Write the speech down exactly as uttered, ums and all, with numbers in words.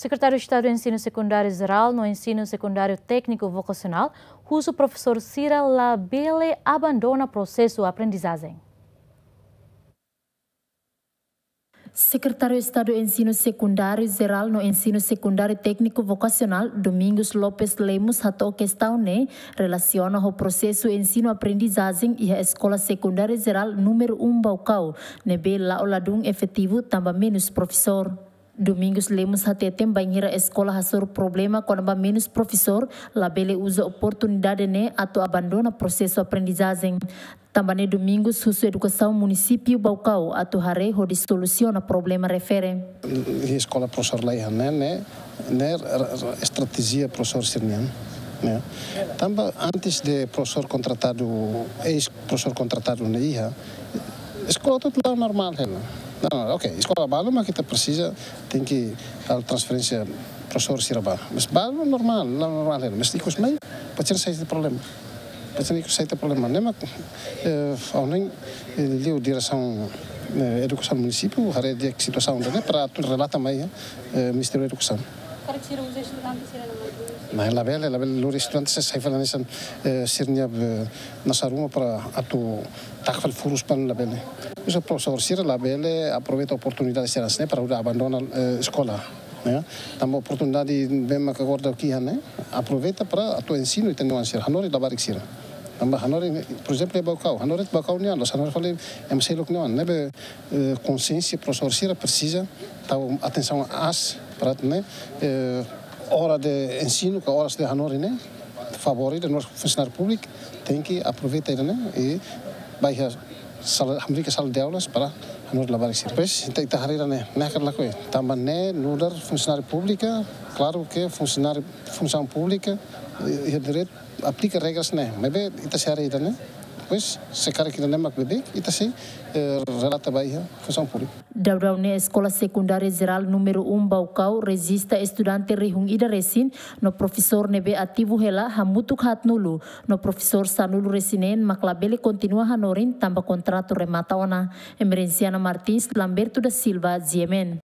Sekretáriu Estadu Ensinu Sekundáriu Jerál no Ensinu Sekundáriu Tékniku Vokasionál husu profesór sira labele abandona prosesu aprendizajen. Sekretáriu Estadu Ensinu Sekundáriu Jerál no Ensinu Sekundáriu Tékniku Vokasionál, Domingos Lopes Lemos, hato'o kestaun ne'e relasiona ho prosesu ensinu aprendizajen iha Eskola Sekundáriu Jerál númeru um Baucau, ne'ebé la'o ladún efetivu tanba menus profesór. Domingos Lemos hateten bainhira eskola hasoru problema kona-ba menus profesór, labele uza oportunidade ne'e atu abandona prosesu aprendizajen. Tanba ne'e Domingos husu edukasaun munisípiu Baucau atu haree hodi solusiona problema refere. Iha eskola profesór la iha, ne'e, ne'e, ne'e estratéjia profesór sira-nian, ne'e. Tanba antes de profesór kontratadu, eis profesór kontratadu ne'e iha, eskola hotu la'o normál hela. Não, não, ok, eskola balu mak ita presiza, tenke halo transferénsia profesór sira ba. Mas balu normál, la'o normál hela. Mas ikus mai, patien sai tiha problema. Patien ikus sai tiha problema. Ne'e mak, eh, ha'u hanoin, eh, liu diresaun, eh, edukasaun munisípiu, haree di'ak situasaun ida-ne'e para atu relata mai, eh, Ministériu Edukasaun. Karik sira uza estudante sira-nia matu? Nah, labele, labele lori estudante sira sai fali hanesan, eh, sira-nia, eh, nasa ruma para atu taka fali furus ba ne'e, labele. Uza profesór sira labele aproveita oportunidade sira hanesan ne'e para hodi abandona, eh, eskola, ne'e. Tanba oportunidade ne'ebé mak agora daudaun iha ne'e, aproveita para atu ensinu ita-nia oan sira, hanorin labarik sira. Tanba hanorin, por ezemplu, iha Baucau, hanorin Baucau nian, la'ós hanorin fali ema seluk nia oan, ne'ebé, eh, konsiénsia profesór sira presiza tau atensaun aas para ne'e, eh, hora de ensinu, ka oras de hanorin ne'e, favór ida nu'udar funsionáriu públiku, tenke aproveita ida-ne'e, i ba iha sala, hamriik iha sala de aulas para hanorin labarik sira. Pois, ita, ita haree ida-ne'e, ne'e hakarak lakohi. Tanba ne'e nu'udar funsionáriu públiku, klaru ke funsionáriu, funsaun públika, eh, iha direitu aplika regras ne'e, maibé ita sei haree ida-ne'e. Pois, se karik ida-ne'e mak beibeik, ita sei, eh, relata ba iha funsaun públika. Daudaun ne'e Eskola Sekundária Jerál númeru um Baucau rejista estudante rihun ida resin, no profesór ne'ebé ativu hela hamutuk haatnulu, no profesór sanulu resin neen mak labele kontinua hanorin tanba kontratu remata ona. Emerenciana Martins, Lamberto da Silva, G M N.